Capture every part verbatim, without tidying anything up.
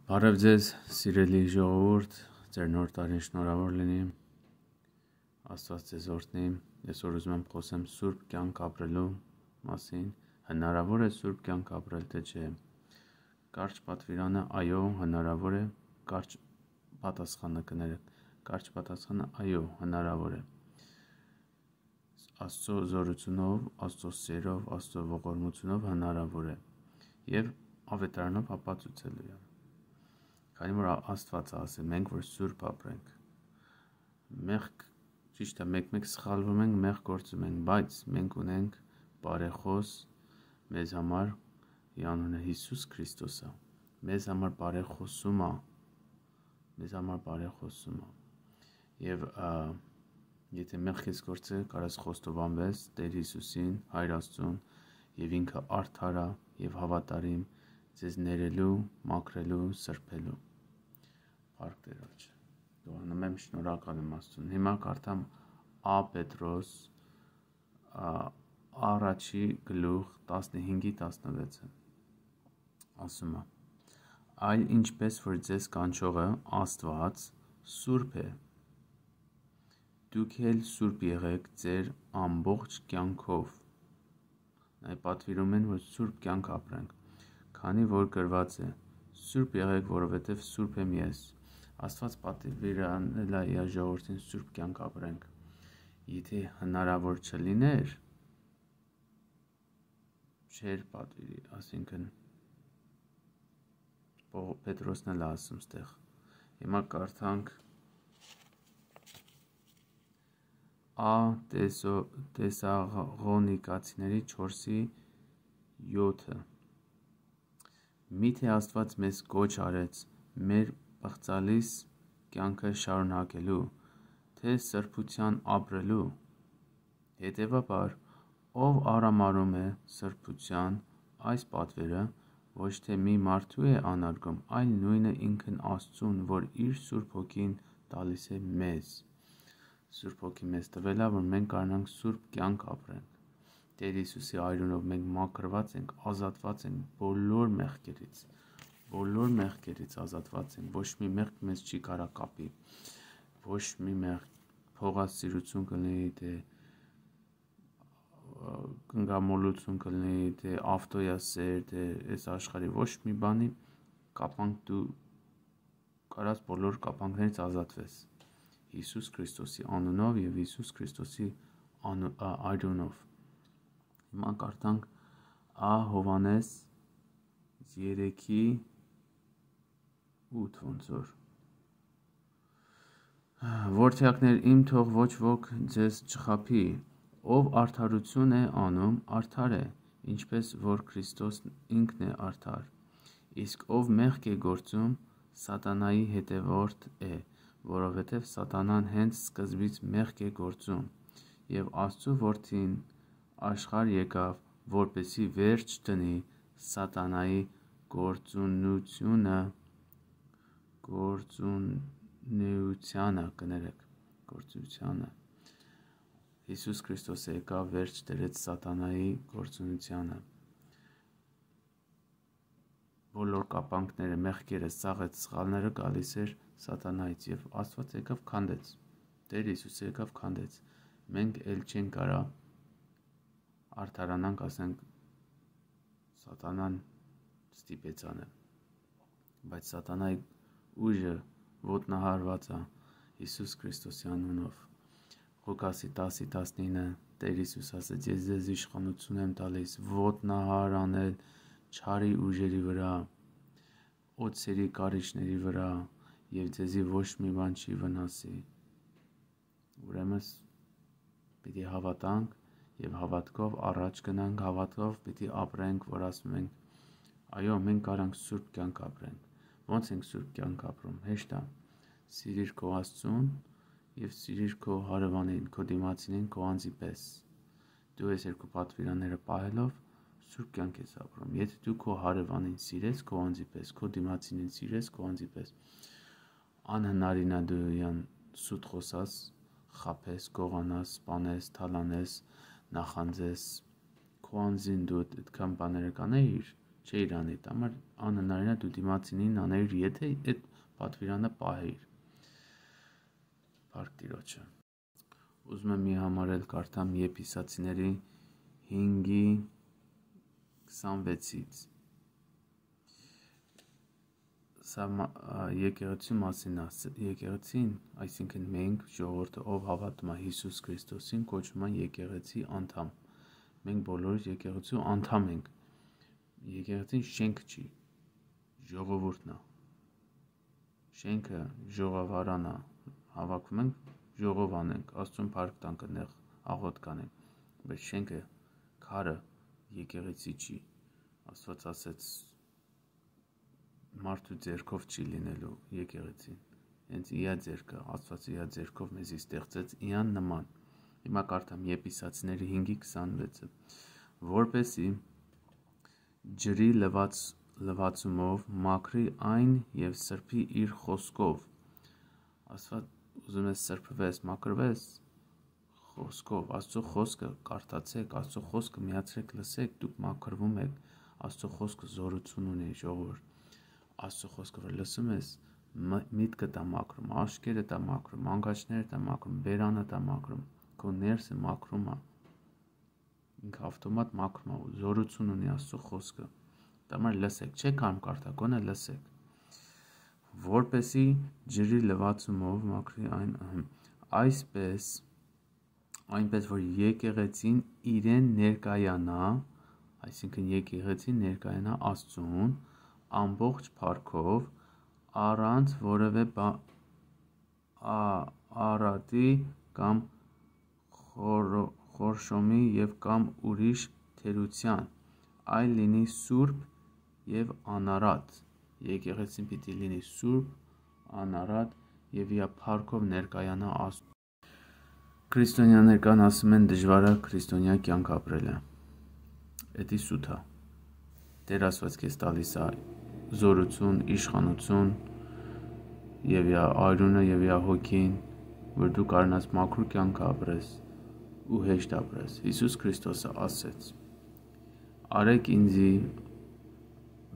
Բարև ձեզ, սիրելի ժողովուրդ, ձեր նոր տարին շնորհավոր լինի, Աստված ձեզ օրհնի, ես որ ուզում եմ խոսեմ սուրբ կյանք ապրելու մասին, հնարավոր է սուրբ կյանք ապրել, թե չէ, կարճ պատվիրանը այո, հնարավոր է, կարճ պատասխանը կներեք, կարճ պատասխանը այո, հնարավոր է, Աստծո զորությունով, Աստծո սերով, Աստծո ողորմությունով հնարավոր է և ավետարանով ապացուցելու է, քանի որ Աստված ասել, մենք որ սուրբ ապրենք, մեղք, ճիշտ է, մեկ-մեկ սխալվում ենք, մեղք գործում ենք, բայց մենք ունենք բարեխոս մեզ համար, անունը Հիսուս Քրիստոսը, մեզ համար բարեխոսում է, մեզ համար բարեխոսում է, և եթե մեղք ես գործել, կարաս խոստովանվես Տեր Հիսուսին, Հայր Աստծուն, և ինքը արդար է և հավատարիմ ձեզ ներելու, մաքրելու, սրբելու, Փառք Տերոջ, դողանում եմ, շնորհակալ եմ Աստծուն, հիմա կարդամ Ա Պետրոս առաջի գլուխ տասնհինգի տասնվեցը, ասում է, այլ ինչպես որ ձեզ կանչողը Աստված սուրբ է, դուք էլ սուրբ եղեք ձեր ամբողջ կյանքով, այ պատվիրում են, որ սուրբ կյանք ապրենք, քանի որ գրված է, սուրբ եղեք, որովհետև սուրբ եմ ես, Աստված պատվիրել է իր ժողովրդին սուրբ կյանք ապրենք, եթե հնարավոր չլիներ, չէր պատվիրի, ասինքն Պետրոսն էլ ասում ստեղ, հիմա կարդանք Ա Տեսաղոնիկացիների չորսի յոթը Միթե Աստված մեզ կոչ արեց մեր պղծալից կյանքը շարունակելու, թե սրբության ապրելու, հետևաբար, ով արամարում է սրբության այս պատվերը, ոչ թե մի մարդու է անարգում, այլ նույնը ինքն Աստծուն, որ իր Սուրբ Հոգին տալիս է մեզ, Սուրբ Հոգի մեզ տվել է, որ մենք կարողանանք սուրբ կյանք ապրենք, Տեր Հիսուսի այրունով մենք մաքրված ենք, ազատված ենք բոլոր մեղքերից, բոլոր մեղքերից ազատված ենք, ոչ մի մեղք մեզ չի կարա կապի, ոչ մի մեղք փողասիրություն կլինի, թե կնգամոլություն կլինի, թե ավտոյասեր, թե այս աշխարհի ոչ մի բանի կապանք դու կարաս բոլոր կապանքներից ազատվես, Հիսուս Քրիստոսի անունով և Հիսուս Քրիստոսի այրունով, հիմա կարդանք Ա Հովհաննես երեքի ութ ոնց որ, Որդյակներ իմ թող ոչ ոք ձեզ չխաբի, ով արդարություն է անում, արդար է, ինչպես որ Քրիստոս ինքն է արդար, իսկ ով մեղք է գործում, սատանայի հետևորդ է, որովհետև սատանան հենց սկզբից մեղք է գործում, և Աստծու որդին աշխարհ եկավ, որպեսզի վերջ դնի սատանայի գործունեությունը, գործունեությանը, կներեք, գործունեությանը, Հիսուս Քրիստոսը եկավ վերջ դրեց սատանայի գործունեությանը, բոլոր կապանքները, մեղքերը, սաղեց, սխալները գալիս էր սատանայից և Աստված եկավ քանդեց, Տեր Հիսուսը եկավ քանդեց, մենք էլ չենք կարա արդարանանք, ասենք սատանան ստիպեց անել, բայց սատանայի ուժը ոտնահարված է Հիսուս Քրիստոսի անունով, Ղուկասի տասի տասնինը Տեր Հիսուս ասեց, ես ձեզ իշխանություն եմ տալիս, ոտնահար անել չարի ուժերի վրա, օձերի կարիճների վրա և ձեզի ոչ մի բան չի վնասի, ուրեմն պիտի հավատանք և հավատքով առաջ գնանք, հավատքով պիտի ապրենք, որ ասում ենք, այո, մենք կարանք սուրբ կյանք ապրենք, ոնց ենք սուրբ կյանք ապրում, հեշտ է, սիրիր քո Աստծուն և սիրիր քո հարևանին, քո դիմացինին, քո անձի պես, դու այս երկու պատվիրանները պահելով սուրբ կյանք ես ապրում, եթե դու քո հարևանին սիրես, քո անձի պես, քո դիմացինին սիրես, քո անձի պես, անհնարին է դու իրան սուտ խոսած, խաբես, գողանաս, սպանես, թալանես, նախանձես, քո անձին դու այդքան բաները կանեիր, չէիր անի, համար անհնարին է դու դիմացինին աներ, եթե այդ պատվիրանը պահեիր։ Փառք Տիրոջը։ Ուզում եմ մի համարել կարդամ Եփիսացիների հինգի քսանվեցից։ Սա եկեղեցու մասին է, եկեղեցին, այսինքն մենք ժողովուրդը, ով հավատում է Հիսուս Քրիստոսին, կոչվում են եկեղեցի անդամ։ Մենք բոլորս եկեղեցու անդամ ենք։ Եկեղեցին շենք չի, ժողովուրդն է։ Շենքը ժողովարան է, հավաքվում ենք, ժողով անենք, Աստծուն փառք տանք, այնտեղ աղոթք կանենք, բայց շենքը, քարը եկեղեցի չի։ Աստված ասեց մարդու ձեռքով չի լինելու եկեղեցին, հենց իա ձեռքը, Աստված իա ձեռքով մեզի ստեղծեց իան նման։ Հիմա կարդամ Եփիսացիների հինգի քսանվեցը, որպեսզի ջրի լվաց լվացումով մաքրի այն եւ սրբի իր խոսքով։ Աստված ուզում է սրբվես, մաքրվես խոսքով, Աստծո խոսքը կարդացեք, Աստծո խոսքը միացրեք, լսեք, դուք մաքրվում եք, Աստծո խոսքը զորություն ունի, ժողովուրդ։ Աստծո խոսքը որ լսում ես, միտքդ է մաքրում, աշկերդ է մաքրում, անգաչներդ է մաքրում, բերանդ է մաքրում, քո ներսը մաքրում է։ Ինքը ավտոմատ մաքրում է, զորություն ունի Աստծո խոսքը։ Դամար լսեք, չեք ամ կարդա, գոնե լսեք։ Որպեսի ջրի լվացումով մաքրի այն այսպես, այնպես որ եկեղեցին իրեն ներկայանա, այսինքն եկեղեցին ներկայանա Աստծուն ամբողջ փառքով, առանց որևէ արատի կամ խորշոմի եւ կամ ուրիշ թերության, այլ լինի սուրբ եւ անարատ։ Եկեղեցին պիտի լինի սուրբ, անարատ եւ իր փառքով ներկայանա Աստծուն։ Քրիստոնյաներկան ասում են դժվար է քրիստոնյա կյանք ապրելը։ Էդի սուտ է։ Տեր Աստված քեզ տալիս է զորություն, իշխանություն եւ իր արյունը եւ իր հոգին, որ դու կարողանաս մաքուր կյանք ապրես ու հեշտ ապրես։ Հիսուս Քրիստոսը ասեց. Արեք ինձի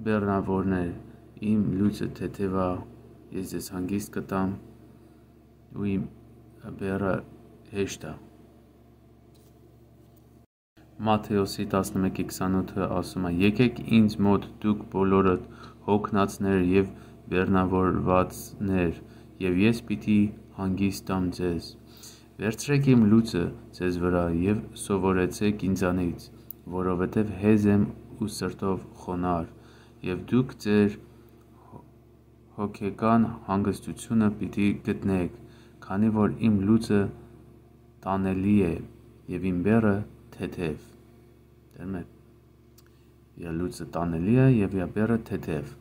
բեռնավորներ, իմ լույսը թեթև է, ես ձեզ հանգիստ կտամ ու իմ բեռը հեշտ է։ Մատթեոսի տասնմեկի քսանութը ասում է. Եկեք ինձ մոտ դուք բոլորդ հոգնածներ եւ բեռնավորվածներ, եւ ես պիտի հանգիստ տամ ձեզ։ Վերցրեք իմ լույսը ձեզ վրա եւ սովորեցեք ինձանից, որովհետեւ հեզ եմ ու սրտով խոնար, եւ դուք ձեր հոգեկան հանգստությունը պիտի գտնեք, քանի որ իմ լույսը տանելի է եւ իմ բեռը թեթև։ Դերում եք, իր լույսը տանելի է եւ իր բեռը թեթև։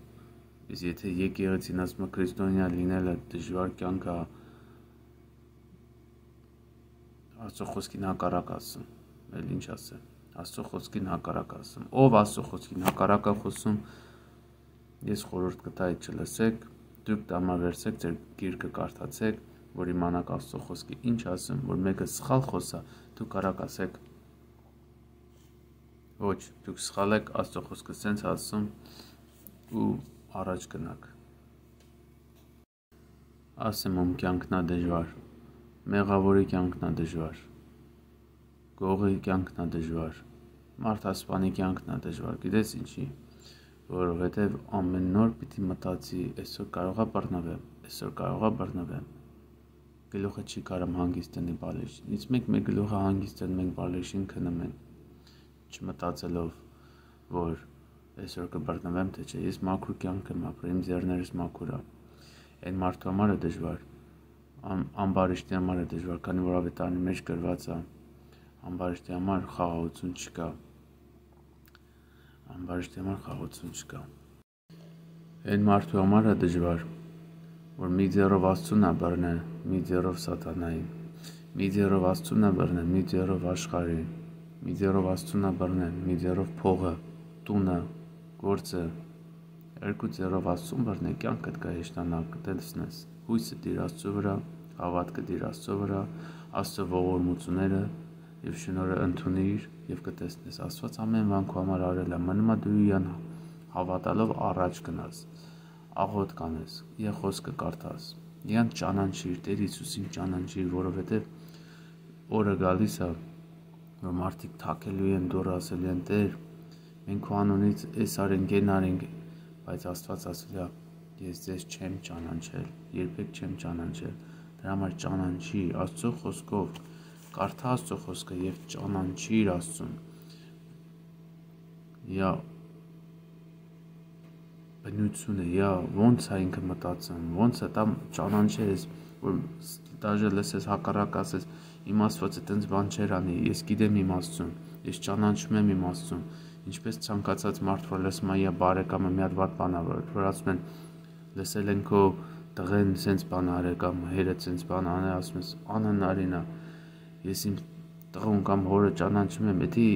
Իսկ եթե եկեղեցին ասում է քրիստոնյա լինելը դժվար կյանք է, Աստծո խոսքին հակառակ ասում, էլ ինչ ասեմ, Աստծո խոսքին հակառակ ասում, ով Աստծո խոսքին հակառակ է խոսում, ես խորհուրդ կտայի չլսեք, դուք դամավերցեք, ձեր գիրքը կարդացեք, որ իմանաք Աստծո խոսքի ինչ ասում, որ մեկը սխալ խոսա, դուք կարաք ասեք, ոչ, դուք սխալ եք, Աստծո խոսքը սենց ասում ու առաջ գնաք։ Ասեմ ում կյանքն է դժվար, մեղավորի կյանքն է դժվար, գողի կյանքն է դժվար, մարդասպանի կյանքն է դժվար, գիտես ինչի, որովհետև ամեն նոր պիտի մտածի, այսօր կարողա բռնվեմ, այսօր կարողա բռնվեմ, գլուխը չի կարամ հանգիստ տնի բալեշին, իսկ մենք մեր գլուխը հանգիստ են, մենք բալեշին քնում ենք, չմտածելով, որ այսօր կբռնվեմ, թե չէ, ես մաքուր կյանք եմ ապրում, իմ ձեռներս մաքուր է, այն մարդու համար է դժվար, ամբարիշտի համար է դժվար, քանի որ ավետարանի մեջ գրված է, ամբարիշտի համար խաղաղություն չկա, ամբարիշտի համար խաղաղություն չկա, այն մարդու համար է դժվար, որ մի ձեռով Աստծուն է բռնել, մի ձեռով սատանային, մի ձեռով Աստծուն է բռնել, մի ձեռով աշխարհին, մի ձեռով Աստծուն է բռնել, մի ձեռով փողը, տունը, գործը, երկու ձեռով Աստծուն բռնել, կյանքդ կհեշտանա, կտեսնես, հույսը դիր Աստծո վրա, հավատքը դիր Աստծո վրա, Աստծո ողորմությունները եւ շնորհը ընդունիր եւ կտեսնես, Աստված ամեն բան քո համար արել է, մնում է դու իրան հավատալով առաջ գնաս, աղոտ կանես, եւ խոսքը կարդաս։ Իրանք ճանաչիր, Տեր Հիսուսին ճանաչիր, որովհետեւ օրը գալիս է, որ մարդիկ թաքելու են դուրս ասելու են Տեր, մենք քո անունից այս արենք, այն արենք, բայց Աստված ասել է ես ձեզ չեմ ճանաչել, երբեք չեմ ճանաչել։ Դրա համար ճանաչիր Աստծո խոսքով, կարդա Աստծո խոսքը եւ ճանաչիր Աստծուն։ Յա բնությունը, յա ոնց է ինքը մտածում, ոնց է դա ճանաչես, որ դաժե լսես հակառակ ասես, իմ Աստվածը տենց բան չեր անի, ես գիտեմ իմ Աստծուն, ես ճանաչում եմ իմ Աստծուն։ Ինչպես ցանկացած մարդ որ լսում է, յա բարեկամը մի հատ վատ բան ա, որ ասում են լսել են քո տղեն սենց բան արել կամ հերը սենց բան անել, ասում ես անհնարին է, ես իմ տղուն կամ հորը ճանաչում եմ, եթե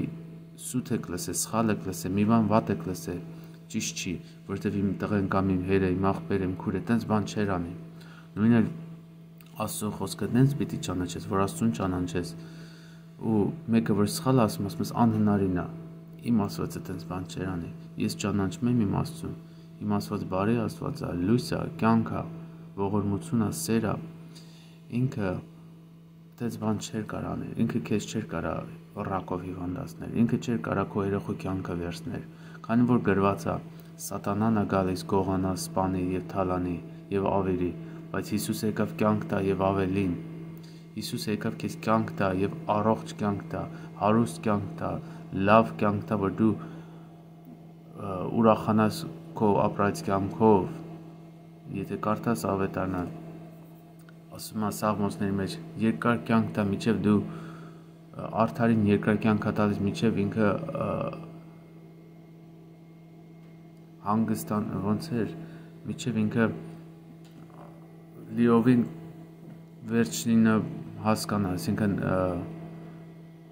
սուտ եք լսել, սխալ եք լսել, մի բան վատ եք լսել, ճիշտ չի, որովհետև իմ տղեն կամ իմ հերը, իմ աղբերը, իմ քուրը տենց բան չեր անի։ Նույնը Աստծո խոսքը տենց պիտի ճանաչես, որ Աստծուն ճանաչես, ու մեկը որ սխալ ասում, ասում ես անհնարին է, իմ Աստվածը տենց բան չեր անի, ես ճանաչում եմ իմ Աստծուն, իմ Աստված բարի Աստված է, լույս է, կյանք է, ողորմություն է, սեր է, ինքը տենց բան չէր կարող անել, ինքը քեզ չէր կարող ռակով հիվանդացնել, ինքը չէր կարող քո երեխու կյանքը վերցնել, քանի որ գրված է Սատանան է գալիս գողանա, սպանի եւ թալանի եւ ավերի, բայց Հիսուս եկավ կյանք տա եւ ավելին։ Հիսուս եկավ քեզ կյանք տա եւ առողջ կյանք տա, հարուստ կյանք տա, լավ կյանք տա, որ դու ուրախանաս քո ապրած կյանքով։ Եթե կարդաս ավետարանը, ասում է Սաղմոսների մեջ, երկար կյանք տա, միջև դու արդարին երկար կյանք տալիս, միջև ինքը հանգստան, ոնց էր, միջև ինքը լիովին վերջինը հասկանա, այսինքն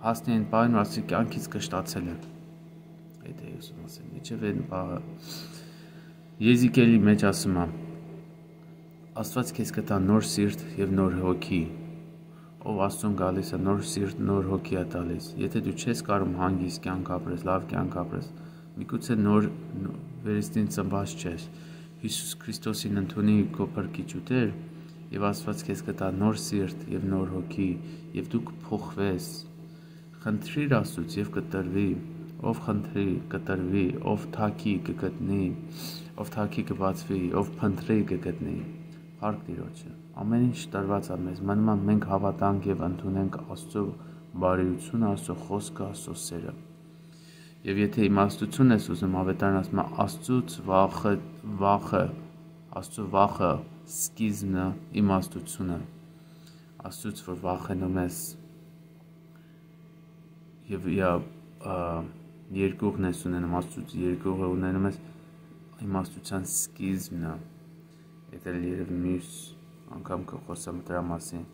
հասնի այն պահին, որ ասի կյանքից կշտացել է։ Այդ է ուսում ասեմ, միջև այն պահը Եզիկելի մեջ ասում է, Աստված քեզ կտա նոր սիրտ եւ նոր հոգի, ով Աստծուն գալիս է նոր սիրտ, նոր հոգի է տալիս։ Եթե դու չես կարող հանգիստ կյանք ապրես, լավ կյանք ապրես, միգուցե նոր վերստին ծնված չես, Հիսուս Քրիստոսին ընդունի քո փրկիչ ու Տեր, եւ Աստված քեզ կտա նոր սիրտ եւ նոր հոգի, եւ դու կփոխվես։ Խնդրիր Աստծուց եւ կտրվի, ով խնդրի կտրվի, ով թակի կգտնի, ով թակի կբացվի, ով փնտրի կգտնի։ Փառք Տիրոջը։ Ամեն ինչ տրված է մեզ, մնում է մենք հավատանք եւ ընդունենք Աստծո բարիությունը, Աստծո խոսքը, Աստծո սերը։ Եվ եթե իմաստություն ես ուզում, ավետարան ասում է Աստծուց վախը, վախը, Աստծո վախը սկիզբն է իմաստությունը։ Աստծուց որ վախենում ես եւ յա երկուղն ես ունենում, Աստծուց երկուղը ունենում ես, իմաստության սկիզբն է։ Եթե երևի մյուս անգամ կխոսեմ դրա մասին,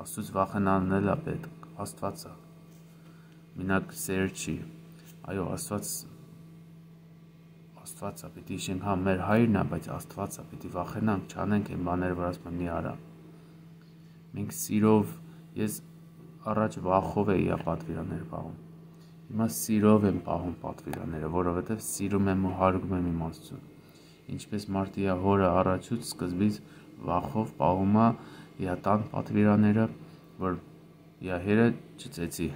Աստծուց վախենալն էլ է պետք, Աստված է, մենակ սեր չի, այո, Աստված, Աստված է, պիտի իշենք, հա, մեր հայրն է, բայց Աստված է, պիտի վախենանք, չանենք այն բաները, որ ասում եմ մի արա։ Մենք սիրով, ես առաջ վախով էի պատվիրաններ պահում, հիմա սիրով եմ պահում պատվիրանները, որովհետև սիրում եմ ու հարգում եմ իմ Աստծուն։ Ինչպես մարդի հորը առաջուց սկզբից վախով պահում է տան պատվիրանները, որ հերը չծեցի,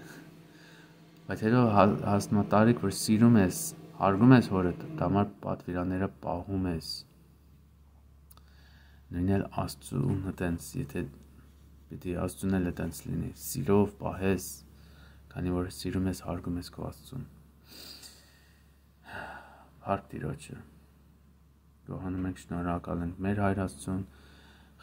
բայց հետո հասնում է տարիք, որ սիրում ես, հարգում ես հորդ, դամար պատվիրանները պահում ես։ Նույն էլ Աստծուն տենց, եթե պիտի Աստծուն էլ տենց լինի, սիրով պահես, քանի որ սիրում ես, հարգում ես քո Աստծուն։ Փառք Տիրոջը։ Գոհանում ենք, շնորհակալ ենք մեր Հայր Աստծուն,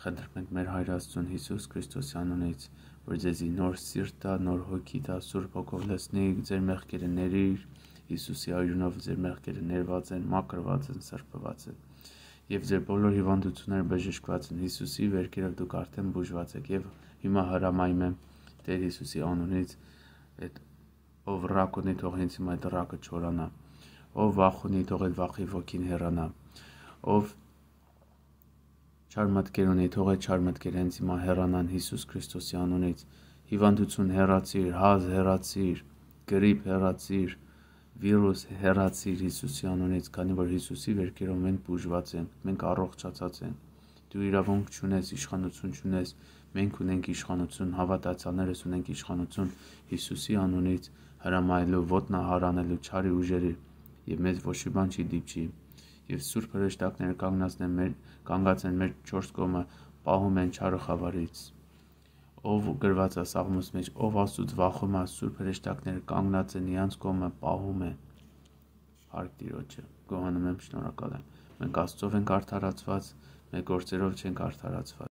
խնդրում ենք մեր Հայր Աստծուն Հիսուս Քրիստոսի անունից, որ ձեզի նոր սիրտ տա, նոր հոգի տա, Սուրբ Հոգով լցնի, ձեր մեղքերը ներիր, Հիսուսի արյունով ձեր մեղքերը ներված են, մաքրված են, սրբված են, եւ ձեր բոլոր հիվանդությունները բժշկված են, Հիսուսի վերքերով դուք արդեն բուժված եք, եւ հիմա հրամայում եմ Տեր Հիսուսի անունից, այդ ով ռակ ունի, թող ինձ հիմա այդ ռակը չորանա, ով վախ ունի, թող այդ վախի ոգին հեռանա, ով չար մտքեր ունի, թող այդ չար մտքերը հենց հիմա հեռանան Հիսուս Քրիստոսի անունից, հիվանդություն հեռացիր, հազ հեռացիր, գրիպ հեռացիր, վիրուս հեռացիր Հիսուսի անունից, քանի որ Հիսուսի վերքերով մենք բուժված ենք, մենք առողջացած ենք։ Դու իրավունք չունես, իշխանություն չունես, մենք ունենք իշխանություն, հավատացյալներս ունենք իշխանություն Հիսուսի անունից հրամայելու, ոտնահար անելու չարի ուժերի, եւ մեզ ոչ մի բան չի դիպչի։ Եվ Սուրբ հրեշտակները կանգնած են մեր կանգած են մեր չորս կողմը, պահում են չարը խավարից։ Ով գրված է Սաղմոս մեջ, ով Աստծուց վախում է, Սուրբ հրեշտակները կանգնած են իրանց կողմը, պահում են։ Փառք Տիրոջը, գոհանում եմ, շնորհակալ եմ։ Մենք Աստծով ենք արդարացված, մեր գործերով չենք արդարացված։